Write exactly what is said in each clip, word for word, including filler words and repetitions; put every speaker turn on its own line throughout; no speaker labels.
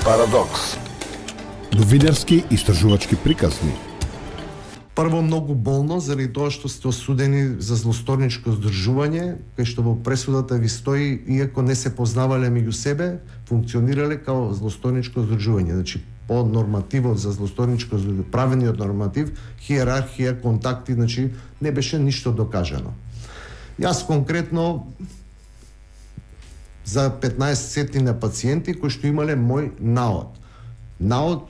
Парадокс.
Новинарски истражувачки приказни.
Прво, многу болно заради тоа што сте осудени за злосторничко здржување, кај што во пресудата ви стои, иако не се познавале меѓу себе, функционирале као злосторничко здржување. Значи, по нормативот за злосторничко здржување, правениот норматив, хиерархија, контакти, значи, не беше ништо докажано. Јас конкретно за петнаесет на пациенти кои што имале мој наод. Наод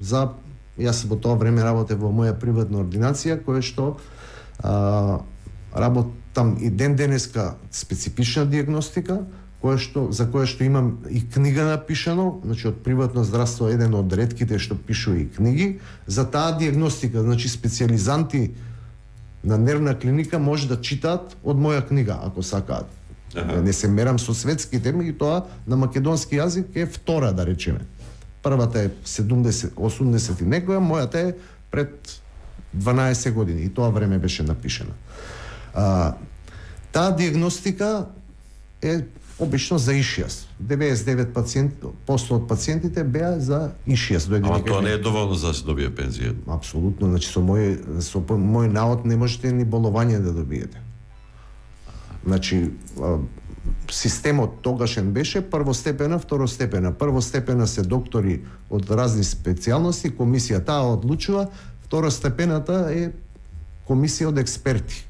за Јас во тоа време работев во моја приватна ординација, која што а, работам и ден денеска специфична диагностика, која што, за која што имам и книга напишано, значи од приватно здравство еден од ретките што пишува и книги, за таа диагностика, значи специјализанти на нервна клиника може да читаат од моја книга, ако сакаат. Ага. Не се мерам со светските, меѓутоа на македонски јазик е втора, да речеме. Првата е седумдесет, осумдесет и некоја, мојата е пред дванаесет години и тоа време беше напишена. А, таа диагностика е обично за ишијас. деветдесет и девет проценти од пациентите беа за ишијас.
Ама тоа не е доволно за да се добие пензија.
Апсолутно, значи со мој со мој наод не можете ни боловање да добиете. Значи системот тогашен беше првостепена, второстепена. Првостепена се доктори од разни специјалности, комисија таа одлучува, второстепената е комисија од експерти,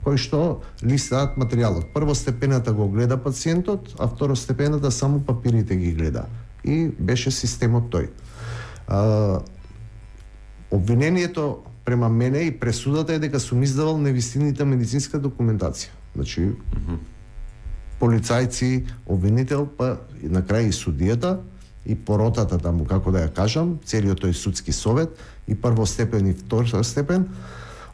кои што листаат материјалот. Првостепената го гледа пациентот, а второстепената само папирите ги гледа. И беше системот тој. А, обвинението према мене и пресудата е дека сум издавал невистинита медицинска документација. Значи, mm-hmm. полицајци, обвинител, па на крај и судијата, и поротата таму, како да ја кажам, целиот тој судски совет, и првостепен и второстепен,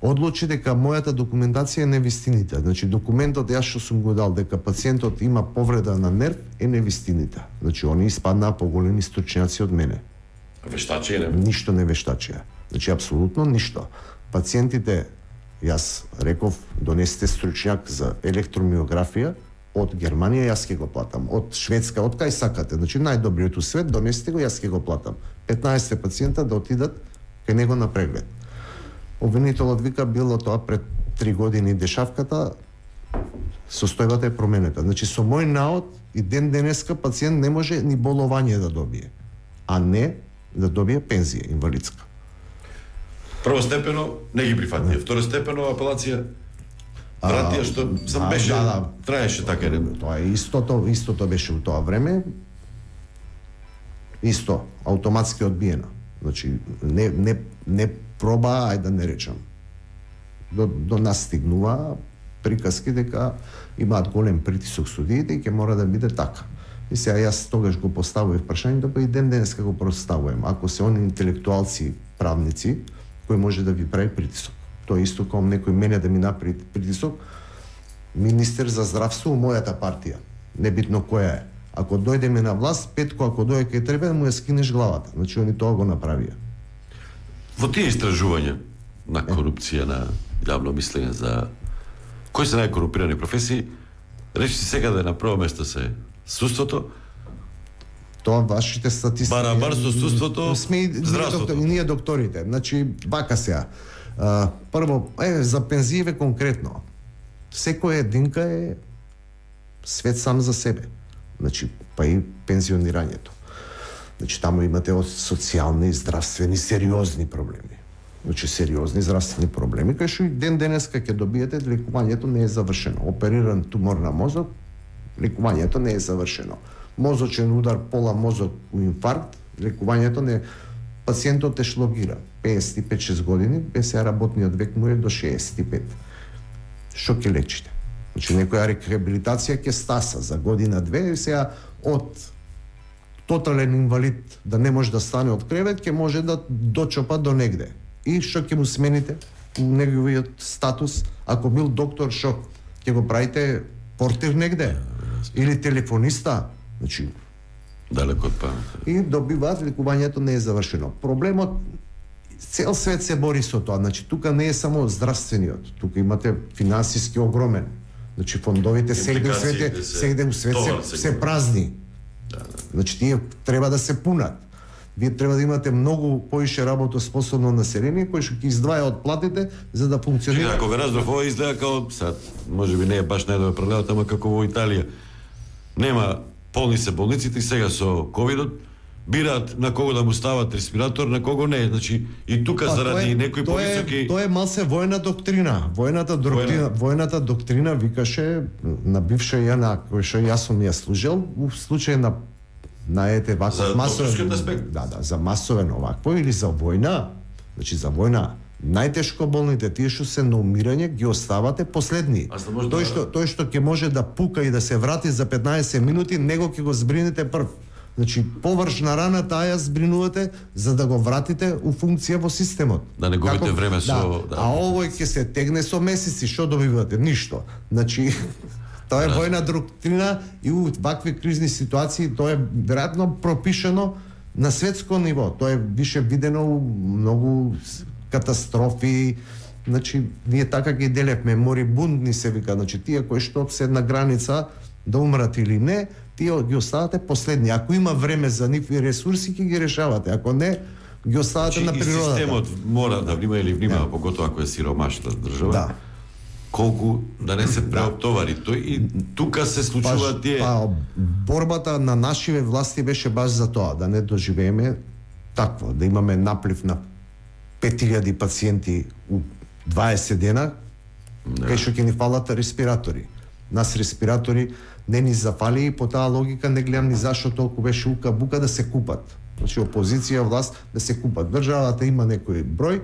одлучи дека мојата документација е невистинита. Значи, документот јас што сум го дал дека пациентот има повреда на нерв е невистинита. Значи, они испаднаа поголеми стручњаци од мене.
Вештачија не?
Ништо не вештачија. Значи, апсолутно ништо. Пациентите, јас реков, донесете стручњак за електромиографија од Германија, јас ќе го платам. Од Шведска, од кај сакате. Значи, најдобриот у свет, донесете го, јас ќе го платам. петнаесет пациента да отидат кај него на преглед. Обвинителот вика, било тоа пред три години дешавката, состојбата е променета. Значи, со мој наод и ден денеска пациент не може ни боловање да добие, а не да добие пензија инвалидска.
Првостепено не ги прифатија, второстепено апелација вратија што сам беше, да, да, траеше така не.
Тоа е истото, истото беше у тоа време. Исто, автоматски одбиена. Значи не не не проба, ајде да не речам. До до нас стигнува приказки дека имаат голем притисок судиите и ќе мора да биде така. И сега јас тогаш го поставував прашањето, па и ден денеска го поставувам. Ако се они интелектуалци, правници, кој може да ви прави притисок. Тоа исто како некој мене да ми направи притисок, министер за здравство у мојата партија, небитно која е. Ако дојдеме на власт, Петко, ако дојде кај тебе, му ја скинеш главата. Значи, они тоа го направија.
Во тие истражувања на корупција, на јавно мислење за кои се најкорупирани професии, речи си сега да е на прво место се судството,
тоа вашите статистики.
Барабар со судството,
сме и
здравството.
Ние, ние докторите. Значи, бака сега. Uh, прво, е, за пензијеве конкретно. Секоја единка е свет сам за себе. Значи, па и пензионирањето. Значи, таму имате од социјални и здравствени сериозни проблеми. Значи, сериозни здравствени проблеми, кај што и ден денеска ќе добиете, лекувањето не е завршено. Опериран тумор на мозок, лекувањето не е завршено. Мозочен удар, пола мозок у инфаркт, лекувањето не е. Пациентот е шлогира, пеесет и пет шест години, без сега работниот век му е до шеесет и пет. Што ќе лечите? Значи, некоја рехабилитација ќе стаса за година-две, и сега од тотален инвалид да не може да стане од кревет, ќе може да дочопа до негде. И што ќе му смените у неговиот статус? Ако бил доктор, што ќе го правите портир негде? Или телефониста? Значи,
далеко од памет.
И добиваат, лекувањето не е завршено. Проблемот, цел свет се бори со тоа. Значи, тука не е само здравствениот, тука имате финансиски огромен. Значи, фондовите сегде у свете, сегде у свет се, се празни.
Да, да.
Значи тие треба да се пунат. Вие треба да имате многу поише работоспособно население кој што ќе издваја од платите за да функционира.
Чека, ако ве разбрав, ова изгледа као сад, можеби не е баш најдобар паралелата, ама како во Италија. Нема, полни се болниците и сега со ковидот бираат на кого да му стават респиратор, на кого не. Значи и тука
Па,
заради
тоа е-
некои
тоа е-
повисоки
Тоа е малце војна доктрина. Војната доктрина, војната доктрина викаше на бивша јана кој што јас сум ја служел, у случај на на ете
За
ваков масовен
докторскиот аспект.
да, да, за масовен овакво или за војна, значи за војна најтешко болните, тие што се на умирање, ги оставате последни.
А за може
Тој
да-
што тој што ќе може да пука и да се врати за петнаесет минути, него ќе го збринете прв. Значи површна рана таа ја збринувате за да го вратите у функција во системот.
Да не губите време со-
да.
да.
А овој ќе се тегне со месеци, што добивате? Ништо. Значи тоа е војна доктрина и у вакви кризни ситуации тоа е веројатно пропишано на светско ниво. Тоа е више видено у многу с- катастрофи. Значи ние така ги делевме, морибундни се вика, значи тие кои што се на граница да умрат или не, тие ги оставате последни. Ако има време за нив и ресурси, ќе ги решавате. Ако не, ги оставате
Значи,
на
и
природата.
системот мора да внима или внимава, поготоа ако е сиромашна држава.
Да.
Колку да не се преоптовари тој и тука се случува тие.
Па, борбата на нашиве власти беше баш за тоа, да не доживееме такво, да имаме наплив на пет илјади пациенти у дваесет дена,
Да.
кај што ќе ни фалат респиратори. Нас респиратори не ни зафали и по таа логика не гледам ни зашто толку беше ука бука да се купат. Значи опозиција, власт да се купат. Државата има некој број,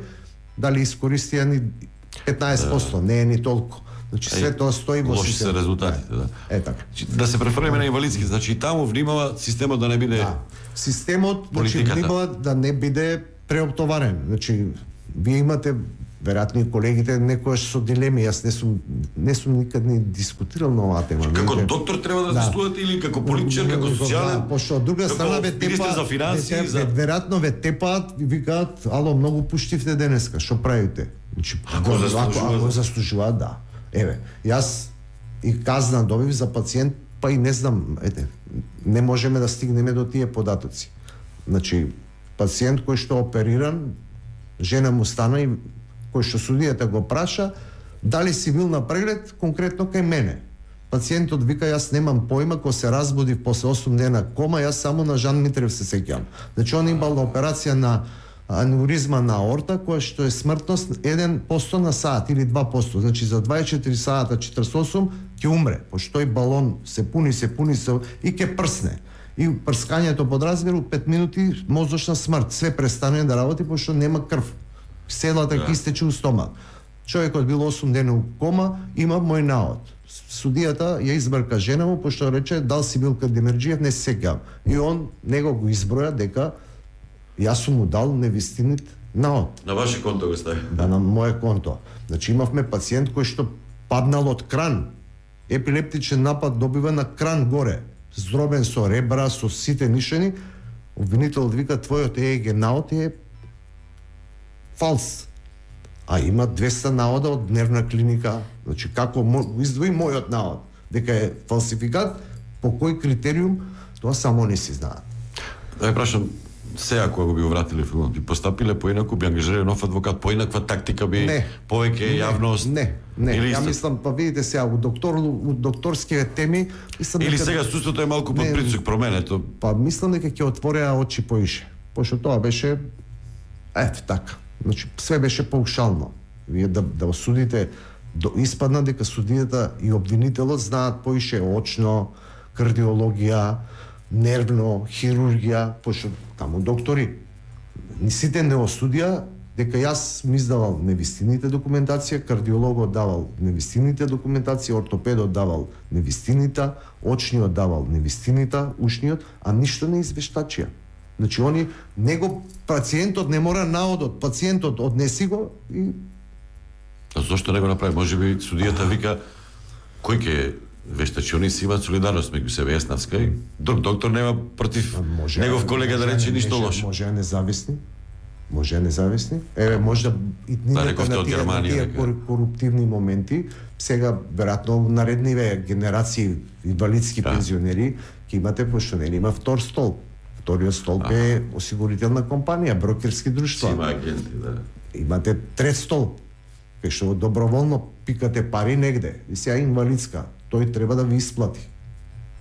дали искористија ни петнаесет проценти, не е ни толку. Значи све тоа стои во
лоши се
системот.
резултатите, да.
Е така.
Да се префрлиме на инвалидски, значи и таму внимава системот да не биде.
Да. Системот значи
Политиката.
внимава да не биде преоптоварен. Значи вие имате веројатно и колегите некојаш со дилеми. Јас не сум не сум никад ни дискутирал на оваа тема.
Како
Не-
доктор треба да
Да.
размислувате или како политичар, како социјален?
Да, пошто од друга
како
страна ве
министер
тепаат
за финансии,
ве,
за
ве, веројатно ве тепаат и викаат: "Ало, многу пуштивте денеска, што правите?" Значи,
Ако
го-
заслужува,
ако
да.
заслужуваат, да. Еве, јас и казна добив за пациент, па и не знам, ете, не можеме да стигнеме до тие податоци. Значи, пациент кој што опериран, жена му стана и кој што судијата го праша, дали си бил на преглед конкретно кај мене. Пациентот вика: "Јас немам појма, кога се разбудив после осум дена кома, јас само на Жан Митрев се сеќавам." Значи он имал операција на аневризма на аорта, која што е смртност еден процент на саат или два проценти. Значи за дваесет и четири сата четиридесет и осум ќе умре, пошто тој балон се пуни, се пуни се и ќе прсне. И прскањето подразбира у пет минути мозочна смрт. Све престане да работи пошто нема крв. Селата ќе истече у стомак. Човекот бил осум дена у кома, има мој наод. Судијата ја избрка жена му пошто рече: "Дал си бил кај Демерџиев, не се сеќавам." И он него го изброја дека јас сум му дал невистинит наод.
на ваше конто го стави.
Да, на моје конто. Значи имавме пациент кој што паднал од кран. Епилептичен напад добива на кран горе. Здробен со ребра, со сите мишени. Обвинителот вика: "Твојот Е Е Г наод е фалс." А има двеста наода од дневна клиника. Значи како мо- издвои мојот наод дека е фалсификат, по кој критериум, тоа само не си знаат.
Да ја прашам, сега кога го би вратиле филмот, би постапиле поинаку, би ангажирале нов адвокат, поинаква тактика би,
Не.
повеќе јавност?
Не, не.
Или
Ја
исто?
мислам, па видите сега, у доктор, у докторските теми, мислам
Или
дека-
сега суството е малку под
Не.
притисок променето.
Па мислам дека ќе отвореа очи поише. Пошто тоа беше ето така. Значи све беше паушално. Вие да да осудите, до испадна дека судијата и обвинителот знаат поише очно, кардиологија, нервно, хирургија, пошто таму доктори. Ни сите не осудија дека јас ми издавал невистините документација, кардиологот давал невистините документација, ортопедот давал невистините, очниот давал невистините, ушниот, а ништо не извештачија. Значи они него пациентот не мора наодот, пациентот однеси го и
А зошто не го направи? Може би судијата вика кој ќе вештачи, они си имаат солидарност меѓу себе, Еснавска и друг доктор нема против
може
негов колега да
може
рече
не-
ништо
може-
лошо.
Може независни. Може независни. Еве може да и
Да, рековте од
тие, на
Германија,
тие
дека.
кор- коруптивни моменти, сега веројатно наредниве генерации инвалидски
Да.
пензионери ќе имате, пошто не има втор столб. Вториот столб е осигурителна компанија, брокерски друштва.
Има агенти, да.
Имате трет столб, кај што доброволно пикате пари негде. И сега инвалидска, тој треба да ви исплати.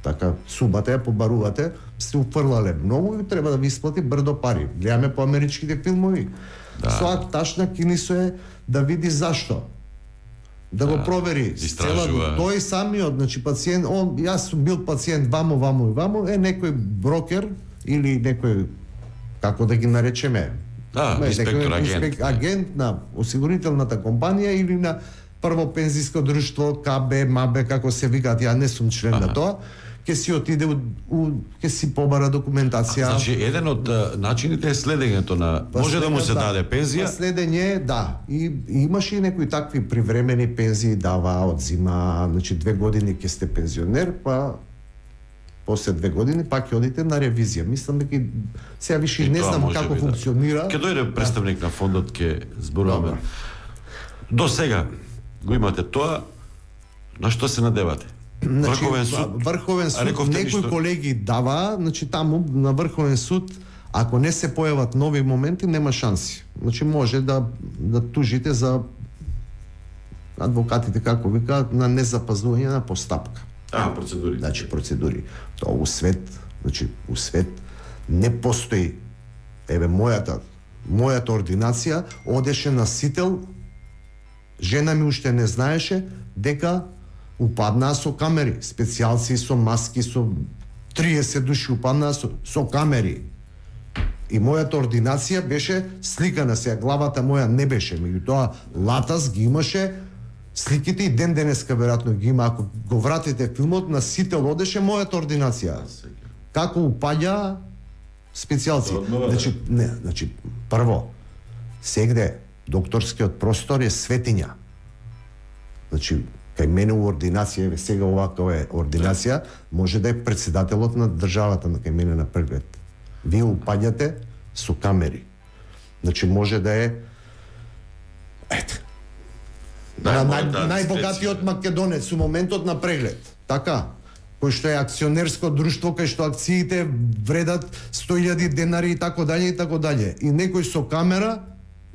Така, субата ја побарувате, сте уфрлале многу и треба да ви исплати брдо пари. Гледаме по америчките филмови. Да. Соа ташна кинисо е да види зашто. Да, да го провери.
Истражува.
Тој самиот, значи пациент, он, јас сум бил пациент вамо, вамо и вамо, е некој брокер или некој, како да ги наречеме,
да,
не,
инспектор,
некој,
агент.
инспек, агент на осигурителната компанија или на прво пензиско друштво, К Б, М Б, како се викаат, ја не сум член
Аха.
на тоа, ќе си отиде у, у ќе си побара документација.
А, значи, еден од а, начините е следењето на...
Па
Може да му се
да,
даде пензија?
па следење, да. И, и имаше и некои такви привремени пензии дава, одзима, значи две години ќе сте пензионер, па после две години пак ќе одите на ревизија. Мислам дека сега више
И
не
тоа
знам
може
како
би, да.
функционира.
Ќе дојде представник на фондот, ќе зборуваме.
Добро.
До сега го имате тоа, на што се надевате?
Значи,
Врховен суд.
Врховен
А
суд,
рековте
некои
ништо?
колеги дава, значи таму на Врховен суд, ако не се појават нови моменти, нема шанси. Значи може да да тужите за адвокатите, како викаат, на незапазвање на постапка.
А, процедури.
Значи процедури. Тоа у свет, значи у свет не постои. Еве мојата мојата ординација одеше на сител, жена ми уште не знаеше дека упаднаа со камери, специјалци со маски, со триесет души упаднаа со, со камери. И мојата ординација беше сликана, сега главата моја не беше, меѓутоа латас ги имаше, сликите и ден денеска веројатно ги има, ако го вратите филмот, на сител одеше мојата ординација. Како упаѓа специјалци.
Однова,
Значи, не, значи, прво, сегде докторскиот простор е светиња. Значи, кај мене у ординација, еве сега оваква е ординација, може да е председателот на државата на кај мене на преглед. Вие упаѓате со камери. Значи може да е ете. На, нај,
да,
најбогатиот македонец у моментот на преглед. Така, кој што е акционерско друштво, кај што акциите вредат сто илјади денари и тако дале и тако дале. И некој со камера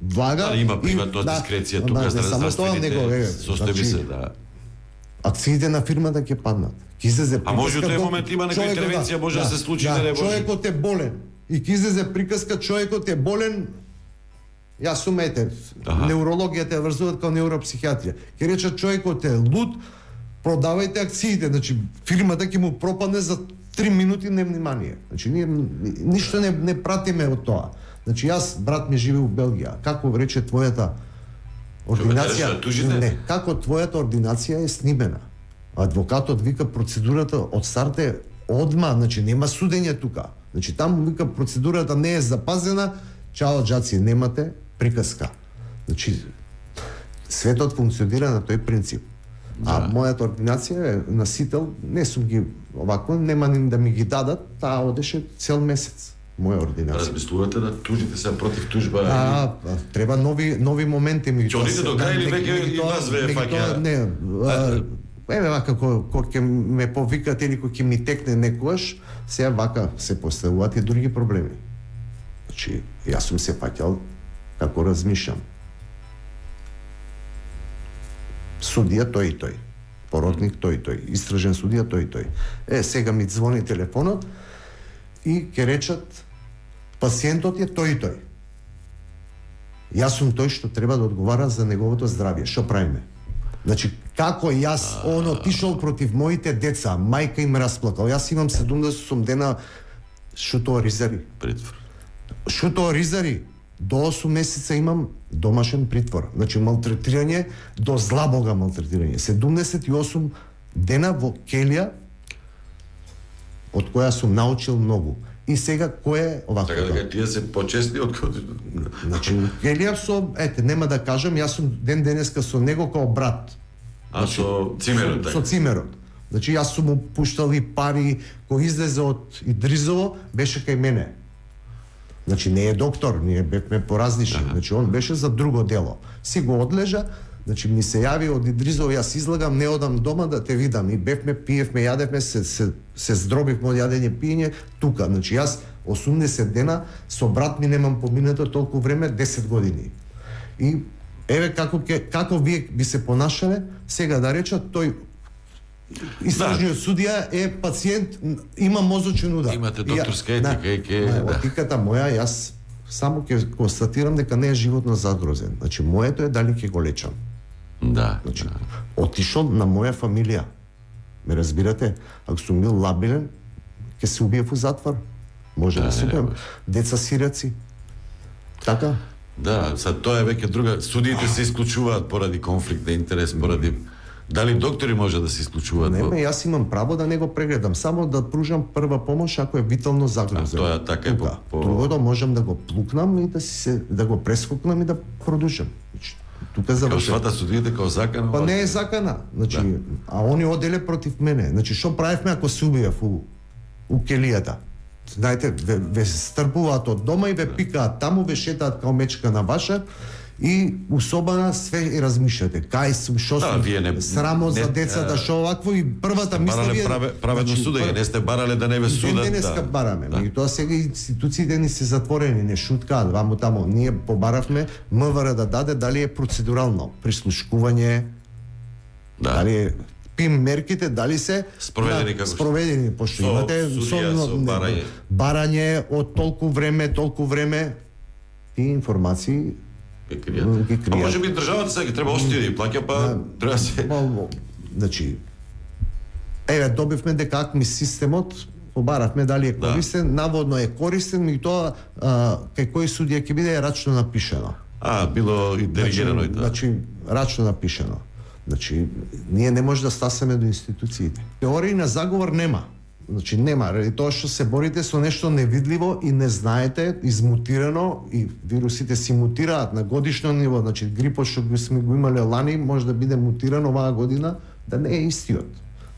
влага.
Да, има
и-
приватна дискреција
да,
тука
не
за
само тоа, него, е,
здравствените состојби се, да.
акциите на фирмата ќе паднат. Ќе излезе
А може
приказка
у тој
до-
момент има некоја
човекот,
интервенција, може да се случи,
да,
да не може.
човекот е болен. И ќе излезе приказка, човекот е болен. Јас сум ете,
Аха.
неурологијата ја врзуваат као неуропсихијатрија. Ќе речат човекот е луд, продавајте акциите, значи фирмата ќе му пропадне за три минути невнимание. Значи ние ни- ништо не не пратиме од тоа. Значи јас брат ми живее у Белгија. Како рече твојата ординација?
кажеш да тужите?
Не, како твојата ординација е снимена. Адвокатот вика процедурата од старт е одма, значи нема судење тука. Значи таму вика процедурата не е запазена, чао џаци, немате приказка. Значи светот функционира на тој принцип. А
Да.
мојата ординација е на сител, не сум ги овако, нема ни да ми ги дадат, таа одеше цел месец. Моја ординација.
Размислувате да тужите се против тужба?
А, а, треба нови нови моменти ми.
Ќе одите до крај или веќе и вас ве фаќа?
Не, а, еве вака кога кога ќе ме повикат или кога ќе ми текне некојаш, сега вака се поставуваат и други проблеми. Значи, јас сум се фаќал како размишлам. Судија тој и тој. Поротник тој и тој. Истражен судија тој и тој. Е, сега ми звони телефонот и ќе речат пациентот е тој и тој. Јас сум тој што треба да одговара за неговото здравје. Што правиме? Значи, како јас он отишол против моите деца, мајка им расплакал. Јас имам седумдесет осум дена шуто ризари.
Притвор.
Шуто ризари. До осум месеца имам домашен притвор. Значи, малтретирање, до зла бога малтретирање. седумдесет и осум дена во келија, од која сум научил многу. И сега кој е овако?
Така дека тие се почесни од кога...
Значи, келија со, ете, нема да кажам, јас сум ден денеска со него као брат.
А со цимерот,
Со,
така?
со цимерот. Значи, јас сум му пуштал и пари, кој излезе од Идризово, беше кај мене. Значи, не е доктор, ние бевме поразлични. Значи, он беше за друго дело. Си го одлежа, Значи ми се јави од Идризово, јас излагам, не одам дома да те видам. И бевме, пиевме, јадевме, се, се, се здробивме од јадење, пиење тука. Значи јас осумдесет дена со брат ми немам поминато толку време, десет години. И еве како ке, како вие би се понашале, сега да речат тој истражниот судија е пациент, има мозочен удар.
Имате докторска етика и ке
да. Етиката моја, јас само ќе констатирам дека не е животно загрозен. Значи моето е дали ќе го лечам.
Да.
Значи
да.
отишол на моја фамилија. Ме разбирате? Ако сум бил лабилен, ќе се убиев у затвор. Може да, да се убием. Деца сираци. Така?
Да, сад тоа е веќе друга. Судиите се исклучуваат поради конфликт на интерес, поради дали доктори може да се исклучуваат?
Не, ме, јас имам право да не го прегледам, само да пружам прва помош ако е витално загрозен.
А тоа така е по, по...
Другото можам да го плукнам и да се да го прескокнам и да продушам. Значи, тука завршува.
Као свата судиите као закана?
Па не е закана. Значи, да. А они оделе против мене. Значи, што правевме ако се убиев у, у келијата? Знаете, ве, ве стрпуваат од дома и ве пикаат таму, ве шетаат као мечка на ваша и усобана све и размишljате. Кај сум, шо сум,
да,
срамо за децата, шо овакво и првата мисла ви е...
Праведно значи, судење, не сте барале да не ве судат.
Ден денеска
да.
бараме,
да.
И тоа сега институциите ни се затворени, не шуткаат, ваму тамо. Ние побаравме МВР да даде дали е процедурално, прислушкување,
да.
Дали е пим мерките, дали се
спроведени,
да,
како
спроведени, пошто
со,
имате
судија, со, со барање.
барање од толку време, толку време, и информации
ги кријат. Ги кријат. А може би државата сега треба остие да плаќа, па да, треба се...
Ба, значи, еве, добивме дека АКМИ системот, побаравме дали е користен, да. Наводно е користен, и тоа а, кај кој судија ќе биде рачно напишено.
А, било и делегирано
значи,
и тоа.
Значи, рачно напишено. Значи, ние не може да стасаме до институциите. Теории на заговор нема. Значи нема, ради тоа што се борите со нешто невидливо и не знаете, измутирано, и вирусите си мутираат на годишно ниво, значи грипот што го сме го имале лани може да биде мутиран оваа година, да не е истиот.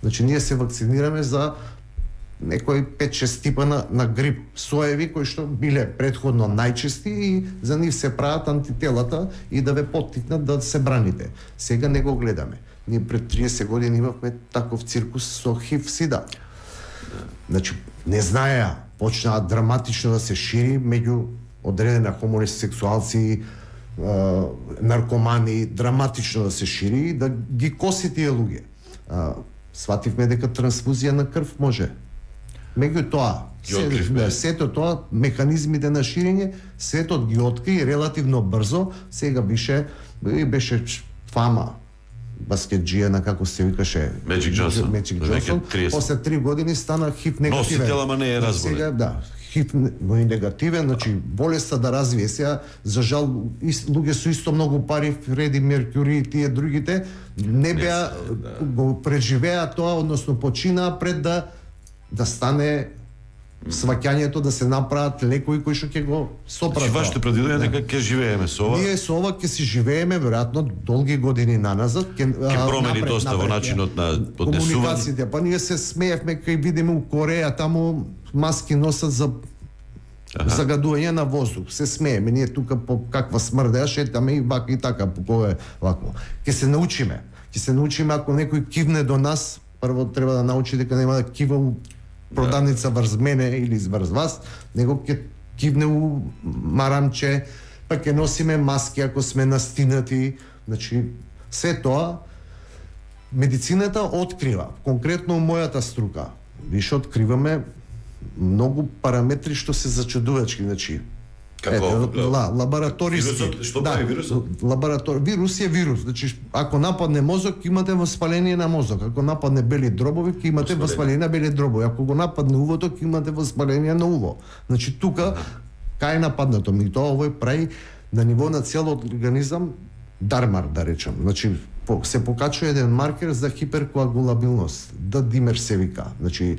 Значи ние се вакцинираме за некои пет-шест типа на, на грип соеви кои што биле претходно најчести и за нив се прават антителата и да ве поттикнат да се браните. Сега не го гледаме. Ние пред триесет години имавме таков циркус со хив сида. Значи, не знаеа, почнаа драматично да се шири меѓу одредена хомосексуалци, наркомани, драматично да се шири и да ги коси тие луѓе. Свативме дека трансфузија на крв може. Меѓу тоа, се, сето тоа, механизмите на ширење, светот ги откри релативно брзо, сега беше, беше фама баскетџија на како се викаше
Меджик Џонсон.
Меджик Џонсон. После три години стана хив негативен.
Носител, ама не е разболен.
Сега, да, хив негативен, значи болеста да развие. Сега, за жал, луѓе со исто многу пари, Фреди Меркюри и тие другите, не беа, да. Го преживеа тоа, односно починаа пред да да стане сваќањето, да се направат лекови кои што ќе го сопрат.
Значи вашето предвидување дека ќе живееме со ова?
Ние со ова ќе си живееме веројатно долги години наназад,
ќе ќе промени напред, доста напред, во начинот на поднесување.
Комуникациите, па ние се смеевме кај видиме у Кореја таму маски носат за Аха. Загадување на воздух. Се смееме, ние тука по каква смрдеа шетаме и вака и така по кое вако. Ќе се научиме. Ќе се научиме ако некој кивне до нас, прво треба да научи дека нема да кива у продавница врз мене или врз вас, него ќе кивне у марамче, па ќе носиме маски ако сме настинати. Значи, се тоа медицината открива, конкретно у мојата струка. Више откриваме многу параметри што се зачудувачки, значи.
Како?
Ете, ла, лабораториски.
Вирусот, што
да,
прави вирусот?
Лаборатор... Вирус е вирус. Значи, ако нападне мозок, имате воспаление на мозок. Ако нападне бели дробови, ќе имате воспаление, воспаление на бели дробови. Ако го нападне увото, ќе имате воспаление на уво. Значи, тука, кај е нападнато? Ми тоа овој прави на ниво на целиот организам дармар, да речам. Значи, по, се покачува еден маркер за хиперкоагулабилност. Да димер се вика. Значи,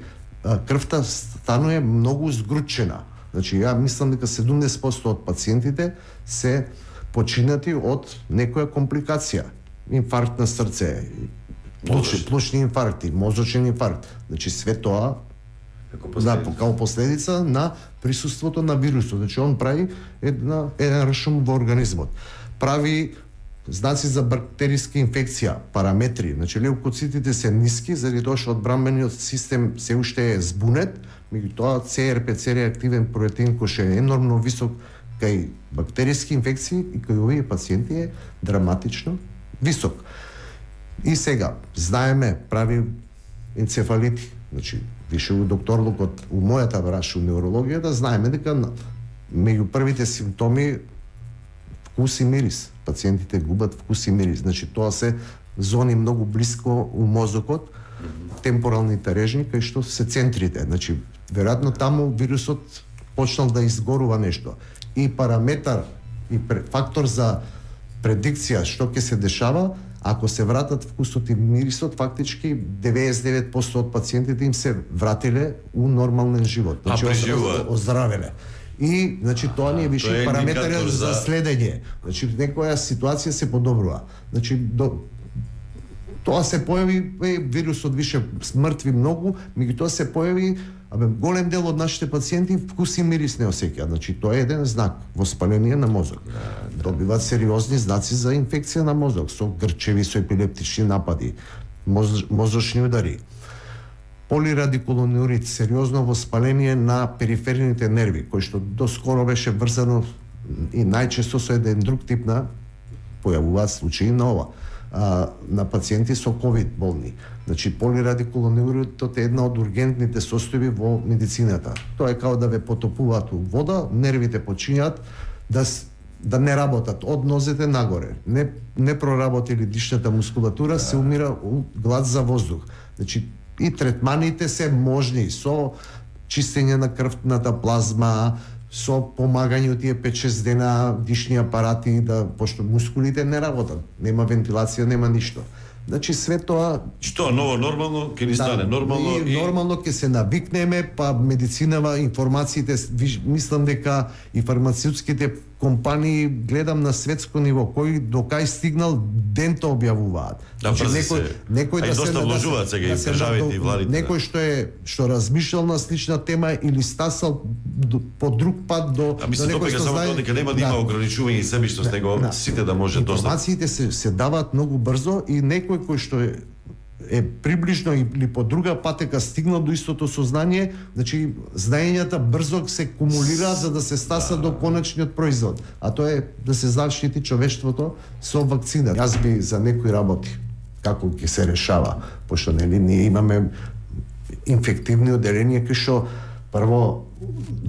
крвта станува многу згручена. Значи, ја мислам дека седумдесет проценти од пациентите се починати од некоја компликација. Инфаркт на срце, плучни, плучни инфаркти, мозочен инфаркт. Значи, све тоа да, како последица на присуството на вирусот. Значи, он прави една, еден ршум во организмот. Прави знаци за бактериска инфекција, параметри, значи леукоцитите се ниски заради тоа што одбранбениот систем се уште е збунет, меѓутоа Це Ер Пе Це реактивен протеин кој што е енормно висок кај бактериски инфекции и кај овие пациенти е драматично висок. И сега, знаеме, прави енцефалити, значи, више у докторлукот, у мојата браш, у неврологијата, знаеме дека меѓу првите симптоми вкус и мирис. Пациентите губат вкус и мирис. Значи, тоа се зони многу блиско у мозокот, темпоралните режни, кај што се центрите. Значи, веројатно таму вирусот почнал да изгорува нешто. И параметар, и фактор за предикција што ќе се дешава, ако се вратат вкусот и мирисот, фактички деветдесет и девет проценти од пациентите им се вратиле у нормален живот.
Значи,
оздравеле. И, значи, тоа ни е више параметар за... за следење. Значи, некоја ситуација се подобрува. Значи, до... тоа се појави, е, вирусот више смртви многу, меѓутоа се појави, абе, голем дел од нашите пациенти вкус и мирис не осеќаат. Значи, тоа е еден знак, воспаление на мозок. Добиваат сериозни знаци за инфекција на мозок, со грчеви, со епилептични напади, моз... мозочни удари. Полирадикулонурит, сериозно воспаление на периферните нерви, кој што доскоро беше врзано и најчесто со еден друг тип на појавуваат случаи на ова, а, на пациенти со ковид болни. Значи, полирадикулонуритот е една од ургентните состојби во медицината. Тоа е као да ве потопуваат у вода, нервите почињаат да да не работат од нозете нагоре. Не не проработили дишната мускулатура, се умира у глад за воздух. Значи, и третманите се можни со чистење на крвната плазма, со помагање од тие пет-шест дена дишни апарати, да, пошто мускулите не работат, нема вентилација, нема ништо. Значи све тоа
што ново нормално ќе ни стане да, нормално
и нормално ќе се навикнеме, па медицинава информациите, мислам дека и фармацевтските компании гледам на светско ниво кој до кај стигнал дента објавуваат.
Да, значи, некој
некој да се
вложуваат сега и државите и владите.
Некој што е што размишljал на слична тема или стасал по друг пат до
а мислам
некој
што знае дека нема да има ограничување и себишност, него сите да може достап.
Информациите се се даваат многу брзо и некој кој што е е приближно или по друга патека стигнал до истото сознание, значи знаењата брзо се кумулираат за да се стаса да. до конечниот производ, а тоа е да се заштити човештвото со вакцина. Јас би за некои работи како ќе се решава, пошто нели ние имаме инфективни оделенија кои што прво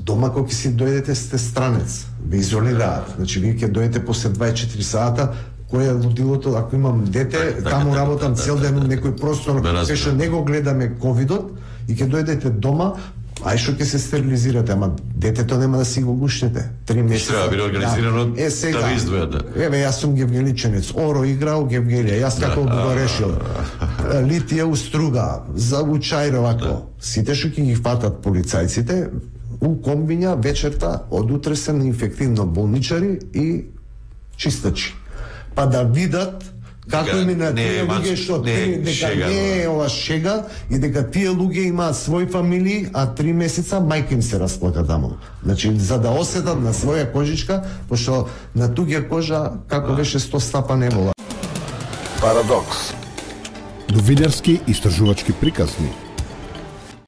дома кога ќе си дојдете сте странец, ве изолираат. Значи вие ќе дојдете после дваесет и четири сата. Кој е лудилото, ако имам дете, таму работам цел ден во некој простор, кај што не го гледаме ковидот и ќе дојдете дома, ај што ќе се стерилизирате, ама детето нема да си го гушнете. Три месеци.
Треба да биде организирано да, е, сега, да ви издвојате.
Еве, јас сум гевгеличенец. Оро играл Гевгелија. Јас како би го решил. Литија уструга, за учајро вако. Сите што ќе ги фатат полицајците, у комбиња вечерта од утре се на инфективно болничари и чистачи. Па да видат како им на тие луѓе што не, дека шега, не е ова шега и дека тие луѓе имаат своји фамилии, а три месеца мајка им се расплака таму. Значи, за да осетат на своја кожичка, пошто на туѓа кожа, како беше сто стапа не вола.
Парадокс. Новинарски истражувачки приказни.